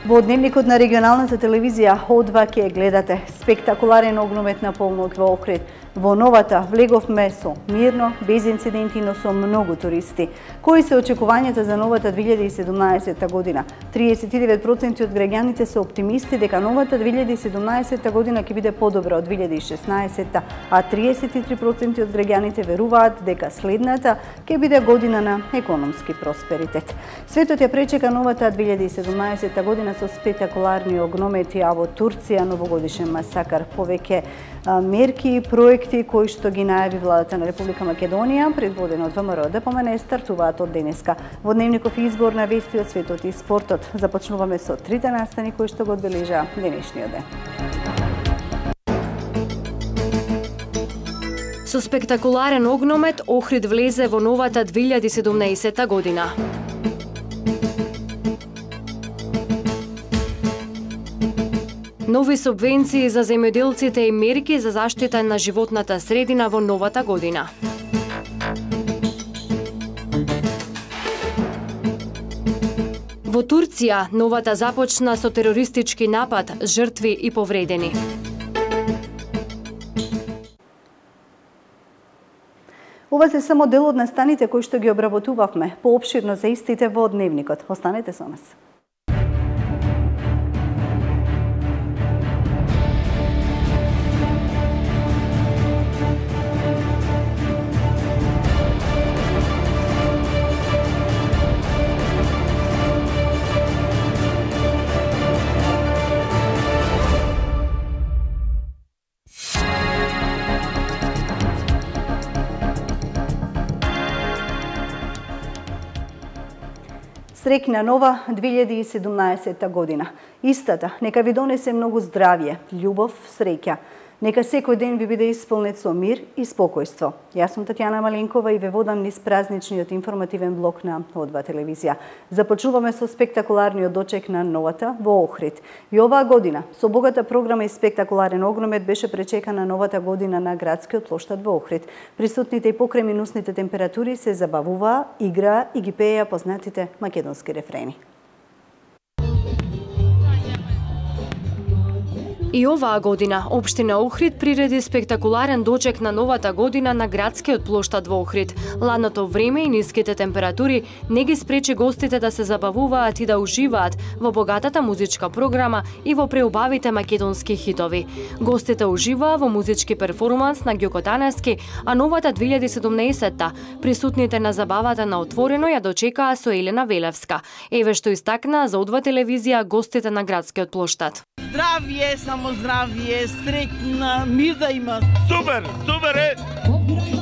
Во дневникот на регионалната телевизија О2 ќе гледате спектакуларен огномет на полнок во Охрид. Во новата влеговме со мирно, без инциденти, но со многу туристи. Кои се очекувањата за новата 2017 година? 39% од граѓаните се оптимисти дека новата 2017 година ќе биде подобра од 2016, а 33% од граѓаните веруваат дека следната ќе биде година на економски просперитет. Светот ја пречека новата 2017 година со спектакуларни огномети, а во Турција новогодишен масакар. Повеќе мерки и проекти кои што ги најави владата на Република Македонија, предводена од ВМРО ДПМН, стартуваат од денеска. Во дневников избор на вести од светот и спортот. Започнуваме со трите настани кои што го одбележа денешниот ден. Со спектакуларен огномет Охрид влезе во новата 2017 година. Нови субвенции за земјоделците и мерки за заштита на животната средина во новата година. Во Турција новата започна со терористички напад, жртви и повредени. Ова се само дел од настаните кои што ги обработувавме. Поопширно за истите во дневникот. Останете со нас. Среќна нова 2017 година. Истата нека ви донесе многу здравје, љубов, среќа. Нека секој ден ви биде исполнет со мир и спокојство. Јас сум Татјана Маленкова и ве водам низ празничниот информативен блок на О2 телевизија. Започнуваме со спектакуларниот дочек на новата во Охрид. И оваа година, со богата програма и спектакуларен огномет, беше пречекана новата година на градскиот плоштад во Охрид. Присутните и покрај минусните температури се забавуваа, играа и ги пееа познатите македонски рефрени. И оваа година општина Охрид приреди спектакуларен дочек на новата година на градскиот плоштад во Охрид. Ладното време и ниските температури не ги спречи гостите да се забавуваат и да уживаат во богатата музичка програма и во преубавите македонски хитови. Гостите уживаа во музички перформанс на Ѓоко Таневски, а новата 2017-та присутните на забавата на отворено ја дочекаа со Елена Велевска. Еве што истакнаа за О2 телевизија гостите на градскиот плоштад. Здравје, само здравје, среќна, мир да има. Супер, супер е!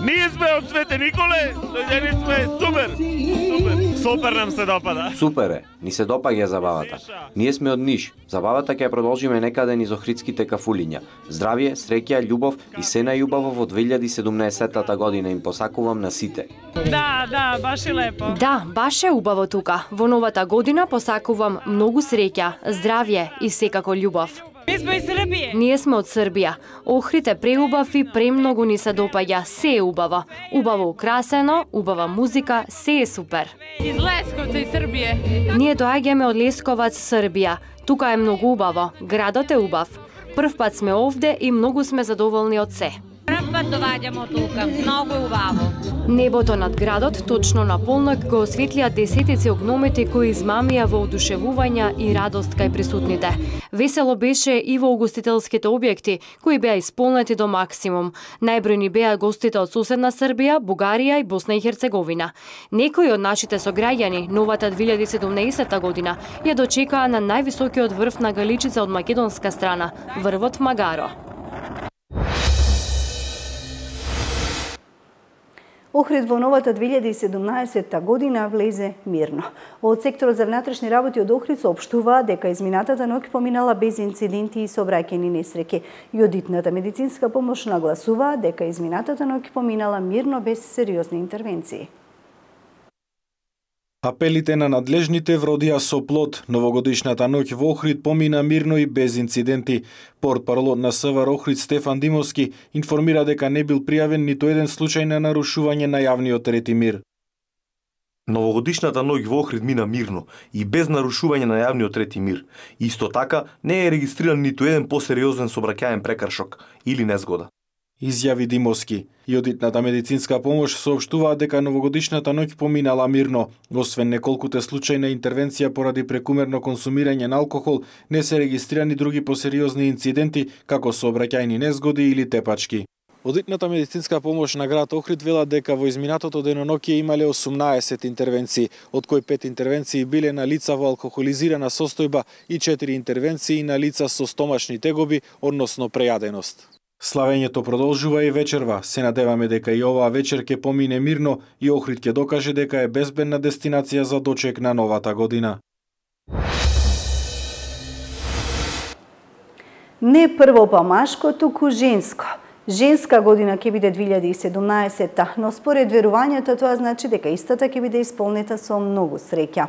Ние сме од Свете Николе, дојдени сме, супер! Супер! Супер нам се допада. Супер е, ни се допаѓа забавата. Ние сме од Ниш. Забавата ќе продолжиме некаде низ охридските кафулиња. Здравје, среќа, љубов и се најубаво во 2017 година им посакувам на сите. Да, баш е лепо. Да, баш е убаво тука. Во новата година посакувам многу среќа, здравје и секако љубов. Ние сме из Србија. Ние сме од Србија. Охрид е преубав и премногу ни се допаѓа. Се е убаво. Убаво украсено, убава музика, се е супер. Из Лесковца и Србија. Ние доаѓаме од Лесковац, Србија. Тука е многу убаво. Градот е убав. Прв пат сме овде и многу сме задоволни од се. Прв пат доаѓаме тука. Многу убаво. Небото над градот точно на полнок го осветлија десетици огномети кои измамија во одушевување и радост кај присутните. Весело беше и во угостителските објекти, кои беа исполнети до максимум. Најбројни беа гостите од соседна Србија, Бугарија и Босна и Херцеговина. Некои од нашите сограѓани новата 2017 година ја дочекаа на највисокиот врв на Галичица од македонска страна, врвот Магаро. Охрид во новата 2017 година влезе мирно. Од секторот за внатрешни работи од Охрид соопштуваа дека изминатата ноќ поминала без инциденти и сообраќајни несреќи. И одитната медицинска помош нагласуваа дека изминатата ноќ поминала мирно без сериозни интервенции. Апелите на надлежните вродија со плод. Новогодишната ноќ во Охрид помина мирно и без инциденти. Портпаролот на СВР Охрид Стефан Димовски информира дека не бил пријавен ниту еден случај на нарушување на јавниот ред и мир. Новогодишната ноќ во Охрид мина мирно и без нарушување на јавниот ред и мир. Исто така, не е регистриран ниту еден посериозен сообраќаен прекршок или незгода. Изјави Димовски. И одитната медицинска помош соопштуваат дека новогодишната ноќ поминала мирно. Освен неколкуте случаи на интервенција поради прекумерно консумирање на алкохол, не се регистрирани други посериозни инциденти, како сообраќајни незгоди или тепачки. Одитната медицинска помош на град Охрид вела дека во изминатото деноноќе имале 18 интервенции, од кои 5 интервенции биле на лица во алкохолизирана состојба и 4 интервенции на лица со стомашни тегоби, односно прејаденост. Славењето продолжува и вечерва. Се надеваме дека и оваа вечер ќе помине мирно и Охрид ќе докаже дека е безбедна дестинација за дочек на новата година. Не прво па машко, туку женско. Женска година ќе биде 2017, но според верувањето тоа значи дека истата ќе биде исполнета со многу среќа.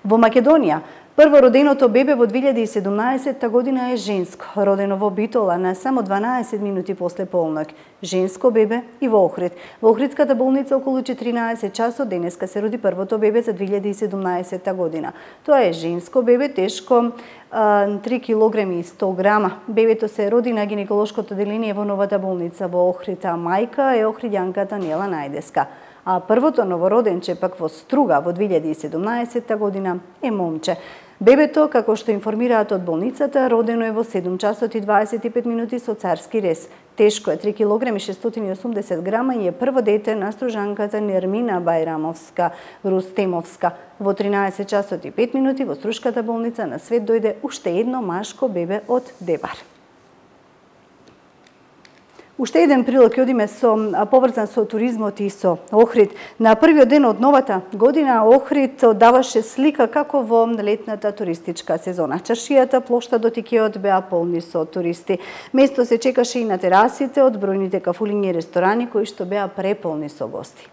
Во Македонија, првороденото бебе во 2017 година е женско, родено во Битола на само 12 минути после полноќ. Женско бебе и во Охрид. Во Охридската болница околу 14 часот денеска се роди првото бебе за 2017 година. Тоа е женско бебе, тешко 3 кг и 100 грама. Бебето се роди на гинеколошкото деление во новата болница во Охрид, а мајка е охридјанката Нела Најдеска. А првото новороденче пак во Струга во 2017 година е момче. Бебето, како што информираат од болницата, родено е во 7 часот и 25 минути со царски рез. Тешко е 3 кг и 680 грама и е прво дете на стружанката Нермина Бајрамовска Рустемовска. Во 13 часот и 5 минути во Струшката болница на свет дојде уште едно машко бебе од Дебар. Уште еден прилог ќе одиме поврзан со туризмот и со Охрид. На првиот ден од новата година Охрид даваше слика како во летната туристичка сезона. Чаршијата, плоштадот и кеот беа полни со туристи. Место се чекаше и на терасите од бројните кафулиња и ресторани кои што беа преполни со гости.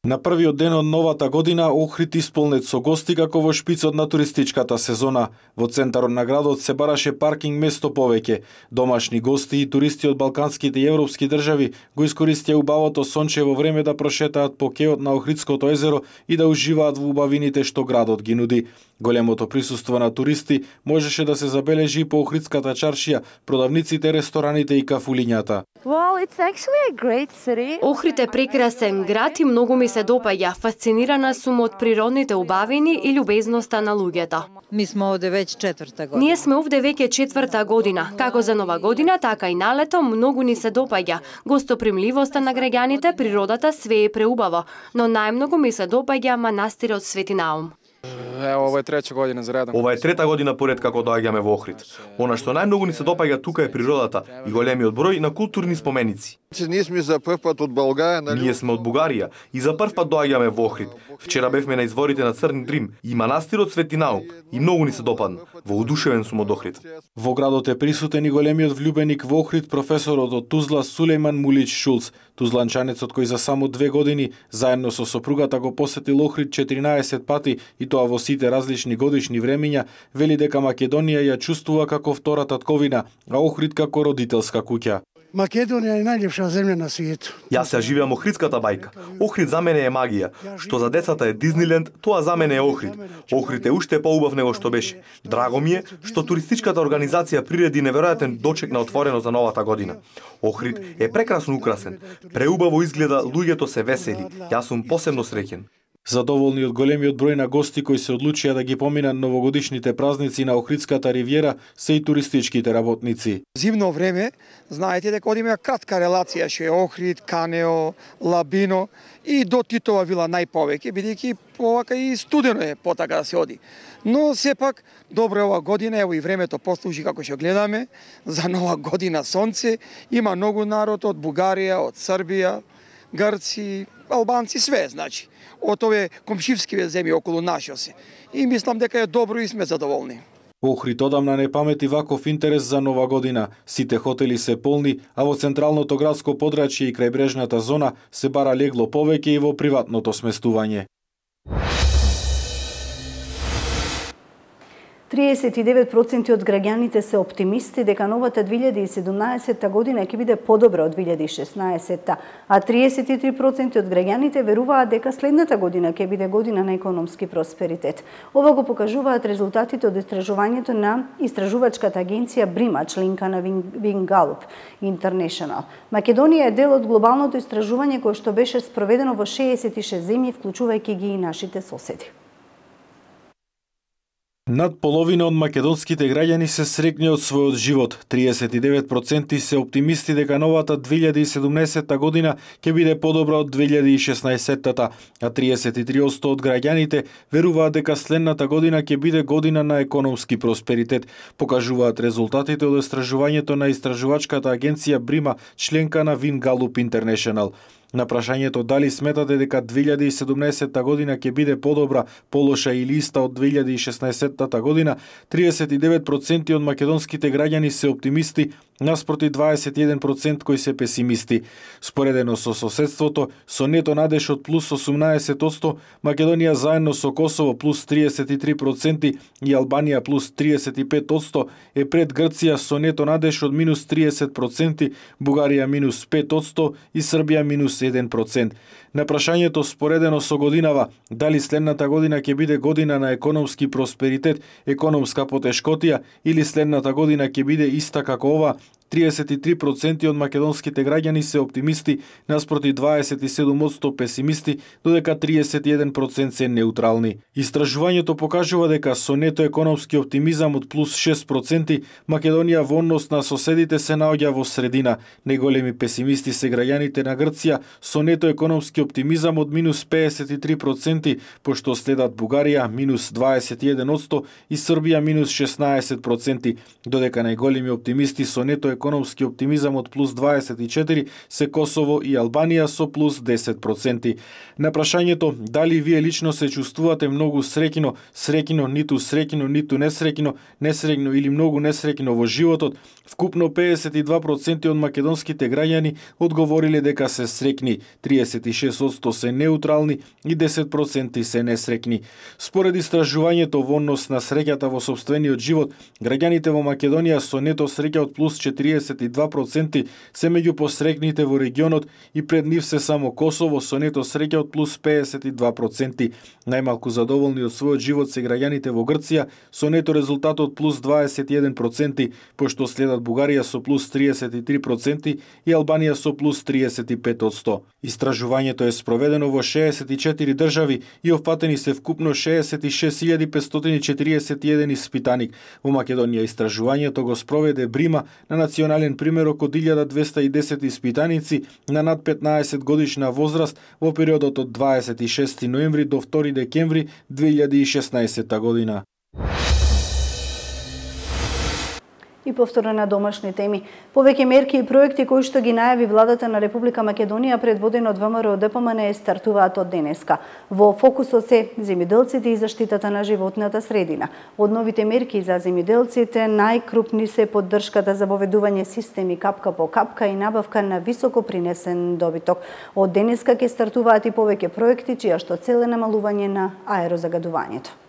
На првиот ден од новата година Охрид исполнет со гости како во шпицот на туристичката сезона. Во центарот на градот се бараше паркинг место повеќе. Домашни гости и туристи од балканските и европски држави го искористија убавото сончево време да прошетаат по кеот на Охридското езеро и да уживаат во убавините што градот ги нуди. Големото присуство на туристи можеше да се забележи по Охридската чаршија, продавниците, рестораните и кафулињата. Охрид е прекрасен град и многу ми се допаѓа. Фасцинирана сум од природните убавини и љубезноста на луѓето. Ние сме овде веќе четврта година. Како за нова година, така и на лето многу ни се допаѓа. Гостопримливоста на граѓаните, природата, све е преубаво, но најмногу ми се допаѓа манастирот Свети Наум. Ова е трета година за редом. Ова е трета година поред како доаѓаме во Охрид. Она што најмногу ни се допаѓа тука е природата и големиот број на културни споменици. Ние сме за прв пат од Българија. Ние сме од Бугарија и за прв пат доаѓаме во Охрид. Вчера бевме на изворите на Црни Дрим и манастирот Свети Наум и многу ни се допадна. Воодушевен сум од Охрид. Во градот е присутен и големиот влюбеник во Охрид, професорот од Тузла Сулејман Мулич Шулц. Тузланчанецот кој за само 2 години заедно со сопругата го посетил Охрид 14 пати и тоа во сите различни годишни времиња, вели дека Македонија ја чувствува како втора татковина, а Охрид како родителска куќа. Македонија е најлепша земја на светот. Јас ја живеам Охридската бајка. Охрид за мене е магија. Што за децата е Дизниленд, тоа за мене е Охрид. Охрид е уште поубав него што беше. Драго ми е што туристичката организација приреди неверојатен дочек на отворено за новата година. Охрид е прекрасно украсен. Преубаво изгледа, луѓето се весели. Јас сум посебно среќен. Задоволни од големиот број на гости кои се одлучија да ги поминат новогодишните празници на Охридската ривиера се и туристичките работници. Зимно време, знаете дека одиме кратка релација, што е Охрид, Канео, Лабино и до Титова вила најповеќе, бидејќи повака и студено е потака да се оди. Но сепак добро ова година, ево и времето послужи како што гледаме, за нова година сонце, има многу народ од Бугарија, од Србија, Грци, Албанци, све, значи, од овие комшивски земји околу нашо се. И мислам дека е добро и сме задоволни. Охрид одамна не памети ваков интерес за нова година. Сите хотели се полни, а во централното градско подрачје и крајбрежната зона се бара легло повеќе и во приватното сместување. 39% од граѓаните се оптимисти дека новата 2017 година ќе биде подобра од 2016, а 33% од граѓаните веруваат дека следната година ќе биде година на економски просперитет. Ова го покажуваат резултатите од истражувањето на истражувачката агенција Брима, членка на Вингалуп International. Македонија е дел од глобалното истражување кое што беше спроведено во 66 земји, вклучувајќи ги и нашите соседи. Над половина од македонските граѓани се среќни од својот живот. 39% се оптимисти дека новата 2017 година ќе биде подобра од 2016, а 33% од граѓаните веруваат дека следната година ќе биде година на економски просперитет, покажуваат резултатите од истражувањето на истражувачката агенција Брима, членка на Вингалуп International. На прашањето дали сметате дека 2017 година ќе биде подобра, полоша или иста од 2016 година, 39% од македонските граѓани се оптимисти, наспроти 21% кои се песимисти. Споредено со соседството, со нето надеж од плюс 18%, Македонија заедно со Косово плюс 33% и Албанија плюс 35% е пред Грција со нето надеж од минус 30%, Бугарија минус 5% и Србија минус 1%. На прашањето споредено со годинава, дали следната година ќе биде година на економски просперитет, економска потешкотија или следната година ќе биде иста како ова, 33% од македонските граѓани се оптимисти, наспроти 27% песимисти, додека 31% се неутрални. Истражувањето покажува дека со нето економски оптимизам од плюс 6%, Македонија во однос на соседите се наоѓа во средина. Најголеми песимисти се граѓаните на Грција со нето економски оптимизам од минус 53%, пошто следат Бугарија минус 21% и Србија минус 16%, додека најголеми оптимисти со нето економски оптимизам од плюс 24 се Косово и Албанија со плюс 10%. На прашањето дали вие лично се чувствувате многу среќно, ниту среќно, ниту несреќно или многу несреќно во животот, вкупно 52% од македонските граѓани одговориле дека се среќни, 36% се неутрални и 10% се несреќни. Според истражувањето во однос на среќата во сопствениот живот, граѓаните во Македонија со нето среќа од плюс 42% се меѓу посрекните во регионот и пред нив се само Косово со нето среќа од плюс 52%. Најмалку задоволни од својот живот се граѓаните во Грција со нето резултат од плюс 21%, пошто следат Бугарија со плюс 33% и Албанија со плюс 35%. Истражувањето е спроведено во 64 држави и опфатени се вкупно 66.541 испитаник. Во Македонија истражувањето го спроведе Брима на национален примерок од 1210 испитаници на над 15 годишна возраст во периодот од 26 ноември до 2 декември 2016 година. И повторно на домашни теми. Повеќе мерки и проекти кои што ги најави владата на Република Македонија предводена од ВМРО ДПМН стартуваат од денеска. Во фокусот се земјоделците и заштитата на животната средина. Од новите мерки за земјоделците најкрупни се поддршката за воведување системи капка по капка и набавка на високо принесен добиток. Од денеска ќе стартуваат и повеќе проекти чија што цел е намалување на аерозагадувањето.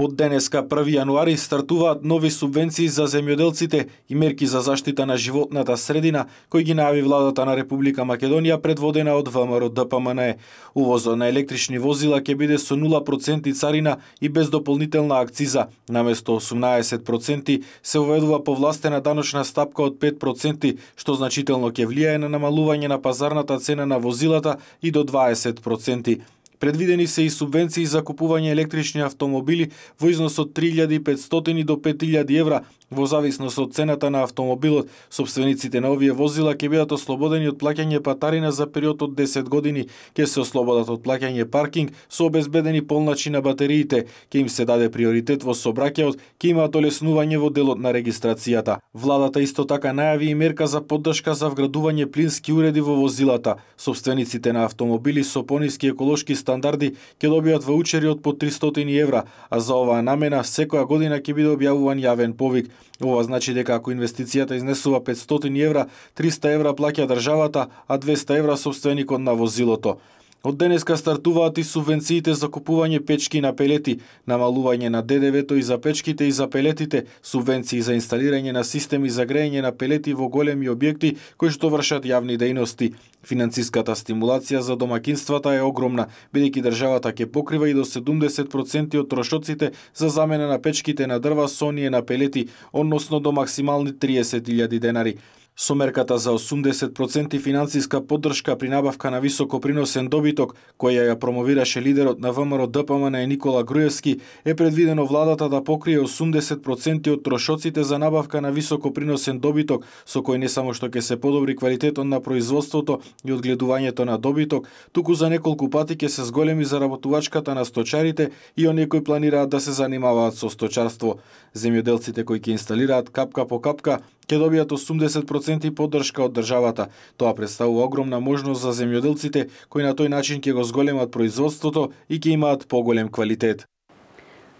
Од денеска 1 јануари стартуваат нови субвенции за земјоделците и мерки за заштита на животната средина кои ги најави владата на Република Македонија предводена од ВМРО ДПМН. Увозот на електрични возила ќе биде со 0% царина и без дополнителна акциза. Наместо 18% се уведува повластена даночна стапка од 5%, што значително ќе влијае на намалување на пазарната цена на возилата и до 20%. Предвидени се и субвенции за купување електрични автомобили во износ од 3500 до 5000 евра, во зависност од цената на автомобилот. Собствениците на овие возила ќе бидат ослободени од плаќање патарина за период од 10 години, ќе се ослободат од плаќање паркинг со обезбедени полначи на батериите, ќе им се даде приоритет во сообраќајот, ќе имаат олеснување во делот на регистрацијата. Владата исто така најави и мерка за поддршка за вградување плински уреди во возилата. Собствениците на автомобили со пониски еколошки стандарди ќе добијат ваучери од по 300 евра, а за оваа намена секоја година ќе биде објавуван јавен повик. Ова значи дека ако инвестицијата изнесува 500 евра, 300 евра плаќа државата, а 200 евра собственикот на возилото. Од денеска стартуваат и субвенциите за купување печки на пелети, намалување на ДДВ-то и за печките и за пелетите, субвенции за инсталирање на системи за грејење на пелети во големи објекти кои што вршат јавни дејности. Финансиската стимулација за домакинствата е огромна, бидејќи државата ќе покрива и до 70% од трошоците за замена на печките на дрва со оние на пелети, односно до максимални 30.000 денари. Со мерката за 80% финансиска поддршка при набавка на високоприносен добиток, која ја промовираше лидерот на ВМРО ДПМН Никола Груевски, е предвидено владата да покрие 80% од трошоците за набавка на високоприносен добиток, со кој не само што ќе се подобри квалитетот на производството и одгледувањето на добиток, туку за неколку пати ќе се зголеми заработувачката на сточарите и оние кои планираат да се занимаваат со сточарство. Земјоделците кои ќе инсталираат капка по капка ќе добијат 80% поддршка од државата. Тоа представува огромна можност за земјоделците кои на тој начин ќе го зголемат производството и ќе имаат поголем квалитет.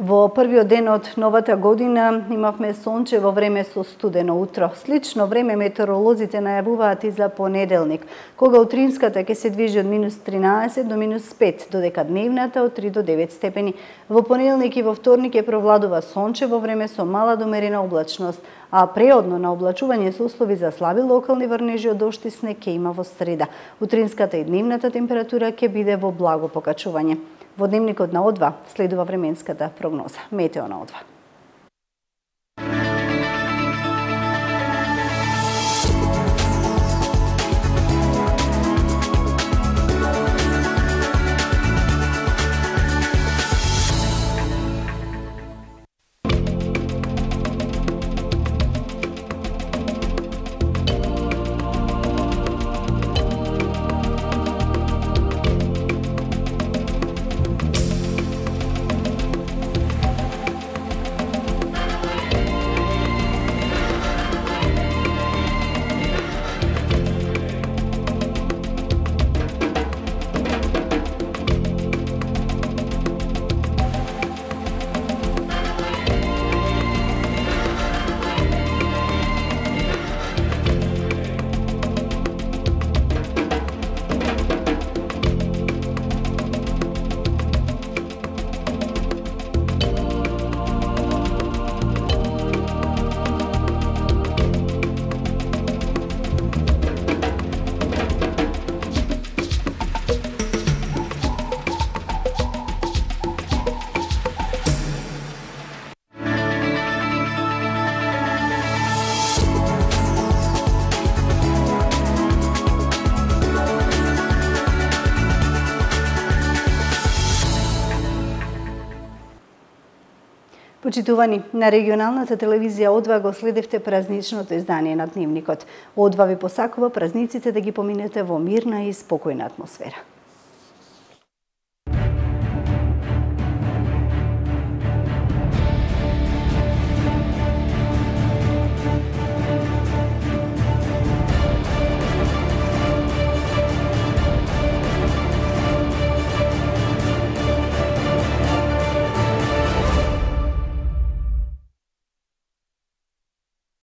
Во првиот ден од новата година имавме сончево време со студено утро. Слично време метеоролозите најавуваат и за понеделник, кога утринската ќе се движи од -13 до -5, додека дневната од 3 до 9 степени. Во понеделник и во вторник ќе провладува сончево време со мала до умерена облачност, а преодно на облачување со услови за слаби локални врнежи од дожд и снег ќе има во среда. Утринската и дневната температура ќе биде во благо покачување. Во дневникот на О2 следува временската прогноза. Метео на О2. Почитувани, на регионалната телевизија О2 го следевте празничното издание на Дневникот. О2 ви посакува празниците да ги поминете во мирна и спокојна атмосфера.